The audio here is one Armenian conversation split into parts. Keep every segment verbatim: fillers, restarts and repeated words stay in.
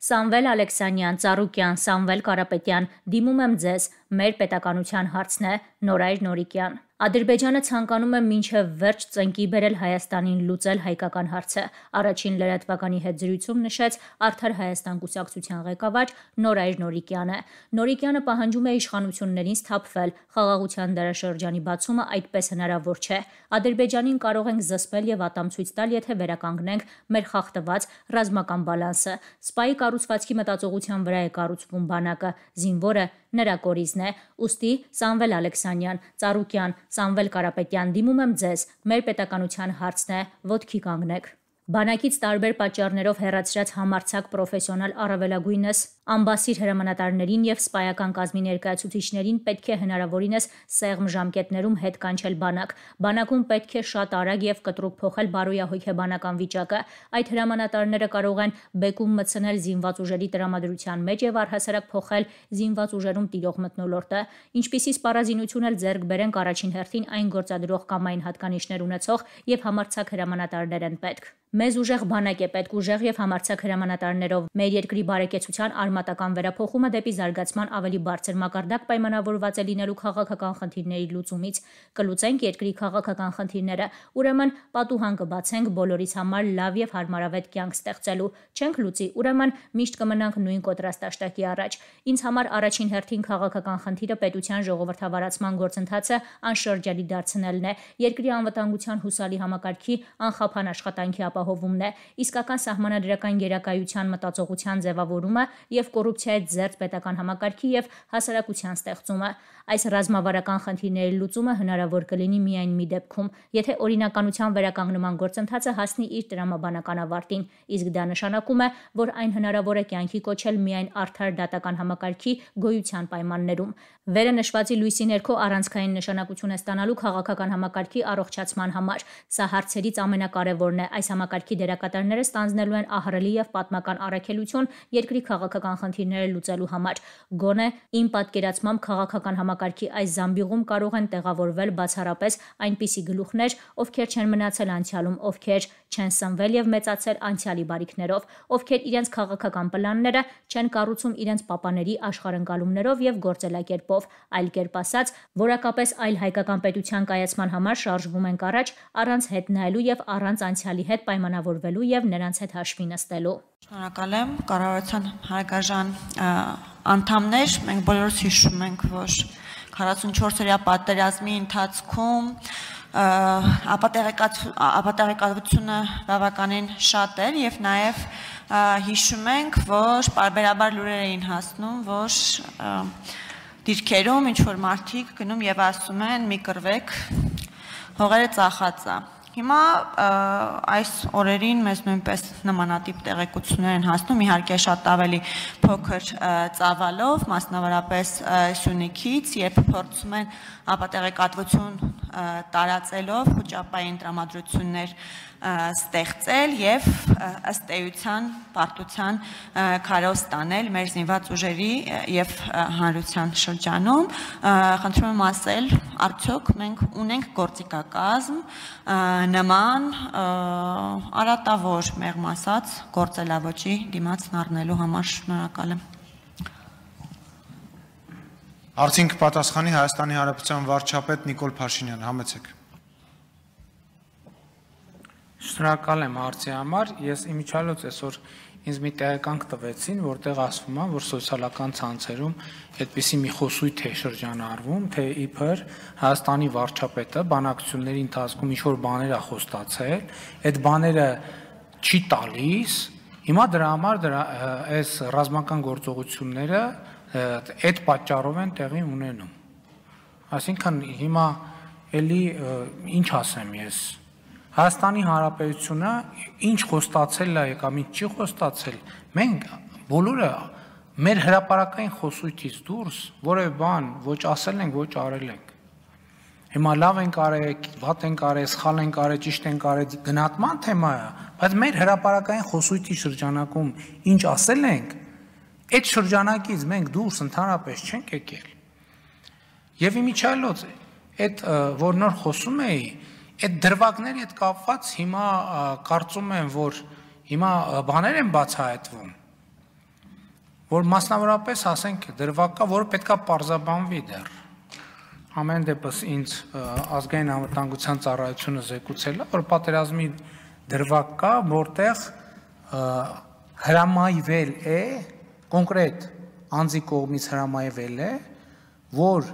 Սամվել Ալեքսանյան, Ծառուկյան, Սամվել Կարապետյան, դիմում եմ ձեզ, մեր պետականության հարցն է, Նորայր Նորիկյան։ Ադրբեջանը ցանկանում է մինչև վերջ ծնկի բերել Հայաստանին լուծել հայկական հարցը, առաջին լրատվականի հետ զրույցում նշեց Արդար Հայաստան կուսակցության ղեկավար Նորայր Նորիկյանը։ Նորիկյանը պահանջում է իշխանություններին սթափվել, խաղաղության դարաշրջանի բացումը այդպես հնարավոր չէ։ Ադրբեջանին կարող ենք զսպել եւ ատամ ցույց տալ, եթե վերականգնենք մեր խախտված ռազմական բալանսը։ Սպայի կառուցվածքի մտածողության վրա է կառուցվում բանակը, զինվորը նրա կորիզն է։ Ուստի Սամվել Ալեքսանյան, Ծառուկյան, Սամվել Կարապետյան, դիմում եմ ձեզ, մեր պետականության հարցն է, ոտքի կանգնեք։ Բանակից տարբեր պատճառներով հեռացրած համարձակ պրոֆեսիոնալ առավելագույնս ամբասիր հրամանատարներին եւ սպայական կազմի ներկայացուցիչներին պետք է հնարավորինս սեղմ ժամկետներում հետ կանչել բանակ։ Բանակում պետք է շատ արագ եւ կտրուկ փոխել բարոյահոգեբանական վիճակը։ Այդ հրամանատարները կարող են բեկում մտցնել զինված ուժերի տրամադրության մեջ եւ առհասարակ փոխել զինված ուժերում տիրող մթնոլորտը։ Ինչպիսի սպառազինություն էլ ձեռք բերենք, առաջին հերթին այն գործադրող կամ այն հատկանիշներ ունեցող եւ համարձակ հրամանատարներ են պետք։ Մեզ ուժեղ բանակ է պետք, ուժեղ եւ համարձակ հրամանատարներով։ Մեր երկրի բարեկեցության արմատական վերափոխումը դեպի զարգացման ավելի բարձր մակարդակ պայմանավորված է լինելու քաղաքական խնդիրների լուծումից։ Կլուծենք երկրի քաղաքական խնդիրները, ուրեմն պատուհան կբացենք բոլորիս համար լավ եւ հարմարավետ կյանք ստեղծելու։ Չենք լուծի, ուրեմն միշտ կմնանք նույն կոտրաստաշտակի առաջ։ Ինձ համար առաջին հերթին քաղաքական խնդիրը պետության ժողովրդավարացման գործընթացը անշրջանի դարձնելն է, երկրի անվտանգության հուսալի համակարգի անխափան աշխատանքի ապահովումն է, իսկական սահմանադրական գերակայության մտածողության ձևավորումը եւ կոռուպցիայից զերծ պետական համակարգի եւ հասարակության ստեղծումը։ Այս ռազմավարական խնդիրների լուծումը հնարավոր կլինի միայն մի դեպքում, եթե օրինականության վերականգնման գործընթացը հասնի իր տրամաբանական ավարտին, իսկ դա նշանակում է, որ այն հնարավոր է կյանքի կոչել միայն արդար դատական համակարգի գոյության պայմաններում։ Վերը նշվածի լույսի ներքո առանցքային նշանակություն է ստանալու քաղաքական համակարգի առողջացման համար։ Սա հարցերից ամենակարևորն է։ Այս համակարգի դերակատարները ստանձնելու են ահռելի եւ պատմական առաքելություն երկրի քաղաքական խնդիրները լուծելու համար։ Գոնե իմ պատկերացմամբ քաղաքական համակարգի այս զամբյուղում կարող են տեղավորվել բացառապես այնպիսի գլուխներ, ովքեր չեն մնացել անցյալում, ովքեր չեն սնվել եւ մեծացել անցյալի բարիքներով, ովքեր իրենց քաղաքական պլանները չեն կառուցում իրենց պապաների աշխարհընկալումներով եւ գործելակերպով, այլ կերպ ասած, որակապես այլ հայկական պետության կայացման համար շարժվում ենք առաջ առանց հետ նայելու եւ առանց անցյալի հետ պայմանավորվելու եւ նրանց հետ հաշվի նստելու։ Շնորհակալ եմ, կառավարության հարգարժան անդամներ, մենք բոլորս հիշում ենք, որ քառասունչորսօրյա պատերազմի ընթացքում ապատեղեկատվությունը բավականին շատ էր եւ նաեւ հիշում ենք, որ պարբերաբար լուրեր էին հասնում, որ դիրքերում ինչ որ մարդիկ գնում եւ ասում են՝ մի կռվեք, հողերը ծախած է։ Հիմա այս օրերին մեզ նույնպես նմանատիպ տեղեկություններ են հասնում, իհարկե շատ ավելի փոքր ծավալով, մասնավորապես Սյունիքից, երբ փորձում են ապատեղեկատվություն տարածելով խոճապային տրամադրություններ ստեղծել եւ ըստ էության պարտության քարոզ տանել մեր զինված ուժերի եւ հանրության շրջանում։ Խնդրում եմ ասել, արդյոք մենք ունենք գործիքակազմ նման արատավոր, մեղմ ասած, գործելավոճի դիմաց առնելու համար։ Շնորհակալ եմ։ Հարցին կպատասխանի Հայաստանի Հանրապետության վարչապետ Նիկոլ Փաշինյան, համեցեք։ Շնորհակալ եմ հարցի համար։ Ես իմիջիալոց այսօր ինձ մի տեղեկանք տվեցին, որտեղ ասվում է, որ սոցիալական ցանցերում այդպիսի մի խոսույթ է շրջանառվում, թե իբր Հայաստանի վարչապետը բանակցությունների ընթացքում ինչ-որ բաներ է խոստացել, այդ բաները չի տալիս, հիմա դրա համար դրա այս ռազմական գործողությունները այդ պատճառով են տեղի ունենում։ Այսինքն հիմա էլի ինչ ասեմ ես, Հայաստանի Հանրապետությունը ինչ խոստացել է կամ ինչ չի խոստացել, մենք բոլորը մեր հրապարակային խոսույթից դուրս որևէ բան ոչ ասել ենք, ոչ արել ենք։ Հիմա լավ ենք արել, վատ ենք արել, սխալ ենք արել, ճիշտ ենք արել, գնահատման թեմա է, բայց մեր հրապարակային խոսույթի շրջանակում ինչ ասել ենք, այդ շրջանակից մենք դուրս ընդհանրապես չենք եկել։ Եվ իմիջիալոց այդ որ նոր խոսում էի, այդ դրվագների հետ կապված հիմա կարծում եմ, որ հիմա բաներ են բացահայտվում, որ մասնավորապես ասենք դրվակ կա, որը պետքա պարզաբանվի դեռ։ Ամեն դեպս ինձ ազգային անվտանգության ծառայությունը զեկուցել է, որ պատերազմի դրվակ կա, որտեղ հրամայվել է, կոնկրետ անձի կողմից հրամայվել է, որ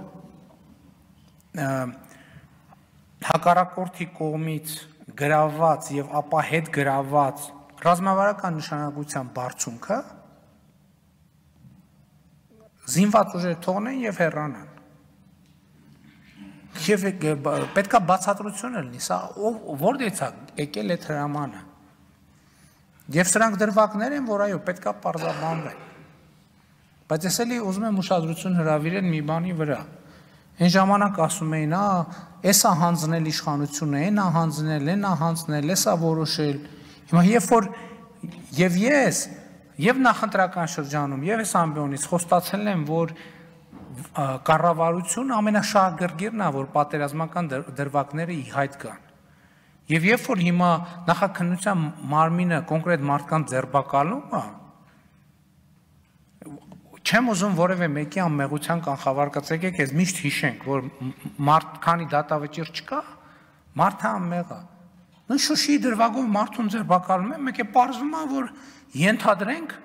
հակառակորդի կողմից գրաված եւ ապա հետ գրաված ռազմավարական նշանակության բարձունքը զինված ուժեր թողնեն եւ հեռանան։ Եվ պետքա բացատրություն լինի, սա որտեղից է եկել այդ հրամանը։ Եվ սրանք դրվագներ են, որ այո, պետքա պարզաբանվեն։ Բայց ես էլի ուզում եմ ուշադրություն հրավիրել մի բանի վրա։ Այն ժամանակ ասում էին, «Ա, էսա հանձնել իշխանությունը, այնա հանձնել, այնա հանձնել, էսա որոշել»։ Հիմա երբ որ եւ ես եւ նախընտրական շրջանում եւ այս ամբիոնից խոստացել եմ, որ կառավարությունը ամենաշահագրգիռն է, որ պատերազմական դրվագները ի հայտ գան։ Եվ երբ որ հիմա նախաքննության մարմինը կոնկրետ մարդկանց ձերբակալում է, չեմ ուզում որևէ մեկի անմեղության կանխավարկած, եկեք ես միշտ հիշենք, որ մարդ քանի դատավճիռ չկա, մարդը անմեղ է։ Նույն Շուշիի դրվագով մարդուն ձերբակալում են, մեկ է պարզվում է, որ ենթադրենք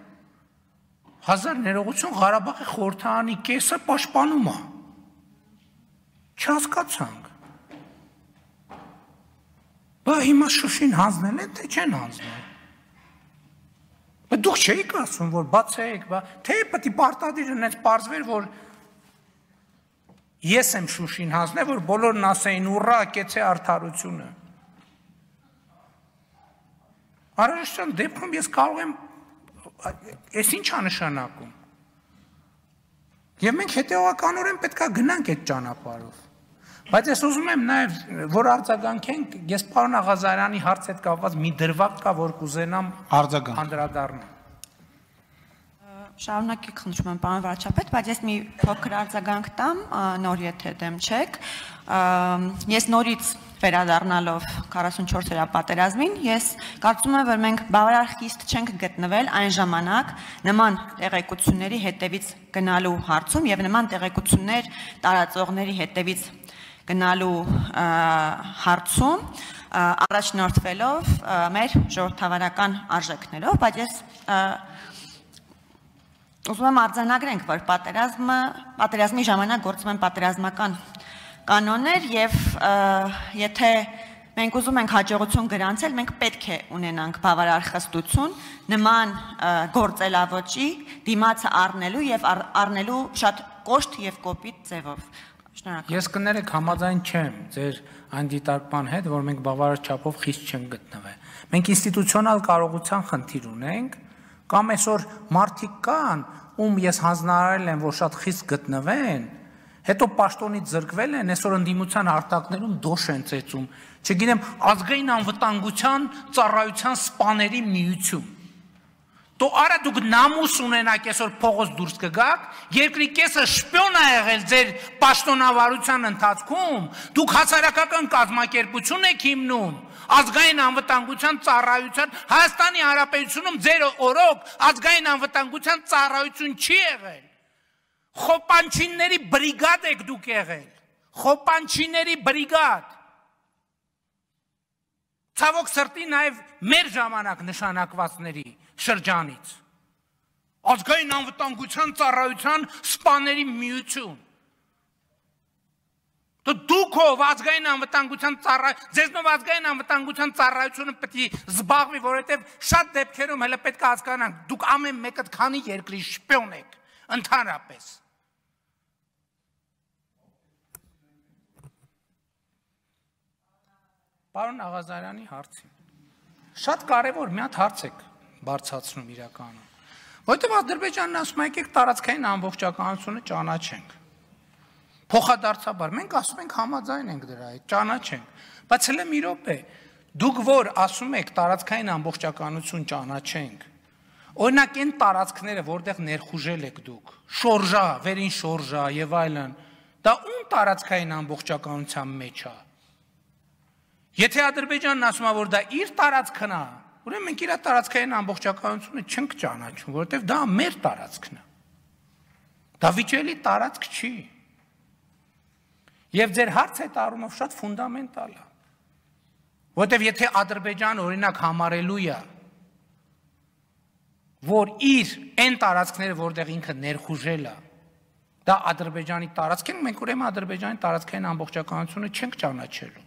հազար ներողություն Ղարաբաղի խորհրդարանի կեսը պաշտպանում է։ Չհասկացանք։ Բա հիմա Շուշին հանձնել են, թե չեն հանձնել։ Բայց դուք չէիք ասում, որ բացեք, բա թե պետք է պարտադիր ունեց պարզվեր, որ ես եմ Շուշին հանձնել, որ բոլորն ասեին ուռա, կեցե արդարությունը։ Արարողության դեպքում ես կարող եմ Ես ինչ է նշանակում։ Եվ մենք հետևականորեն պետք է գնանք այդ ճանապարհով։ Բայց ես ուզում եմ նաև, որ արձագանքենք, ես պարոն Աղազարյանի հարց հետ կապված մի դրվագ կա, որ կուզենամ անդրադառնալ։ Շարունակեք, խնդրում եմ, պարոն վարչապետ, բայց ես մի փոքր արձագանք տամ, նոր եթե դեմ չեք։ Ես նորից վերադառնալով քառասունչորս-օրյա պատերազմին, ես կարծում եմ, որ մենք բավարար խիստ չենք գտնվել այն ժամանակ նման տեղեկությունների հետևից գնալու հարցում եւ նման տեղեկություններ տարածողների հետևից գնալու հարցում առաջնորդվելով մեր ժողովրդավարական արժեքներով, բայց ես ուզում եմ արձանագրենք, որ պատերազմը, պատերազմի ժամանակ գործում են պատերազմական կանոններ եւ եթե մենք ուզում ենք հաջողություն գրանցել, մենք պետք է ունենանք բավարար խստություն նման գործելավոճի դիմացը առնելու եւ առնելու շատ կոշտ եւ կոպիտ ձևով։ Շնորհակալ։ Ես կներեք համաձայն չեմ ձեր այն դիտարկման հետ, որ մենք բավարար չափով խիստ չենք գտնվել։ Մենք ինստիտուցիոնալ կարողության խնդիր ունենք, կամ այսօր մարդիկ կան, ում ես հանձնարարել եմ, որ շատ խիստ գտնվեն, հետո պաշտոնից զրկվել են, այսօր ընդդիմության արտակներում դոշ են ծեծում, չգիտեմ, ազգային անվտանգության ծառայության սպաների միություն։ Դո արա դուք նամուս ունենաք այսօր փողոց դուրս կգաք, երկրի կեսը շպիոն է եղել ձեր պաշտոնավարության ընթացքում, դուք հասարակական կազմակերպություն եք հիմնում, ազգային անվտանգության ծառայության, Հայաստանի Հանրապետությունում ձեր օրոք ազգային անվտանգության ծառայություն չի եղել։ Խոպանչիների բրիգադ եք դուք եղել, խոպանչիների բրիգադ։ Ցավոք սրտի նաև մեր ժամանակ նշանակվածների շրջանից։ Ազգային անվտանգության ծառայության սպաների միություն։ Դուք ով ազգային անվտանգության ծառայություն, ձեզնով ազգային անվտանգության ծառայությունը պետք է զբաղվի, որովհետև շատ դեպքերում հələ պետք է հասկանանք, դուք ամեն մեկը քանի երկրի շպիոն եք, ընդհանրապես։ Պարոն Աղազարյանի հարցին։ Շատ կարևոր մի հատ հարց եք բարձրացնում իրականում։ Որտեւ Ադրբեջանն ասում է, եկեք տարածքային ամբողջականությունը ճանաչենք։ Փոխադարձաբար մենք ասում ենք համաձայն ենք դրա հետ, ճանաչենք, բայց հələ մի րոպե, դուք որ ասում եք տարածքային ամբողջականություն ճանաչենք, օրինակ այն տարածքները, որտեղ ներխուժել եք դուք, շորժա, վերին շորժա եւ այլն, դա ում տարածքային ամբողջականության մեջ է։ Եթե Ադրբեջանն ասում է, որ դա իր տարածքն է, ուրեմն մենք իր տարածքային ամբողջականությունը չենք ճանաչում, որովհետև դա մեր տարածքն է։ Դա վիճելի տարածք չի։ Եվ ձեր հարցը այդ առումով շատ ֆունդամենտալ է։ Որտեվ եթե Ադրբեջանը օրինակ համարելու է, որ իր այն տարածքները, որտեղ ինքը ներխուժել է, դա Ադրբեջանի տարածք են, մենք ուրեմն Ադրբեջանի տարածքային ամբողջականությունը չենք ճանաչելու։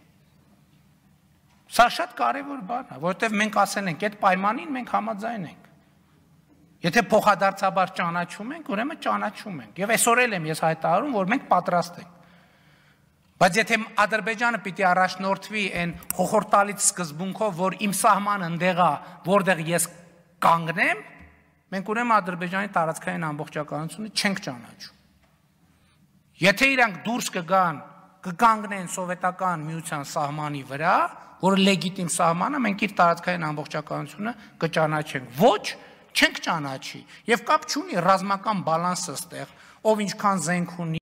Սա շատ կարևոր բան է, որովհետև մենք ասել ենք, այդ պայմանին մենք համաձայն ենք։ Եթե փոխադարձաբար ճանաչում ենք, ուրեմն ճանաչում ենք։ Եվ այսօր էլ եմ ես հայտարարում, որ մենք պատրաստ ենք։ Բայց եթե Ադրբեջանը պիտի առաջնորդվի այն խոխորտալից սկզբունքով, որ իմ սահմանը ընդեղ է, որտեղ ես կանգնեմ, մենք ուրեմն Ադրբեջանի տարածքային ամբողջականությունը չենք ճանաչում։ Եթե իրանք դուրս կգան, կկանգնեն սովետական միության սահմանի վրա, որ լեգիտիմ սահմանը, մենք իր տարածքային ամբողջականությունը կճանաչենք։ Ոչ, չենք ճանաչի։ Եվ կապ չունի ռազմական բալանսը ստեղ, ով ինչքան զենք ունի,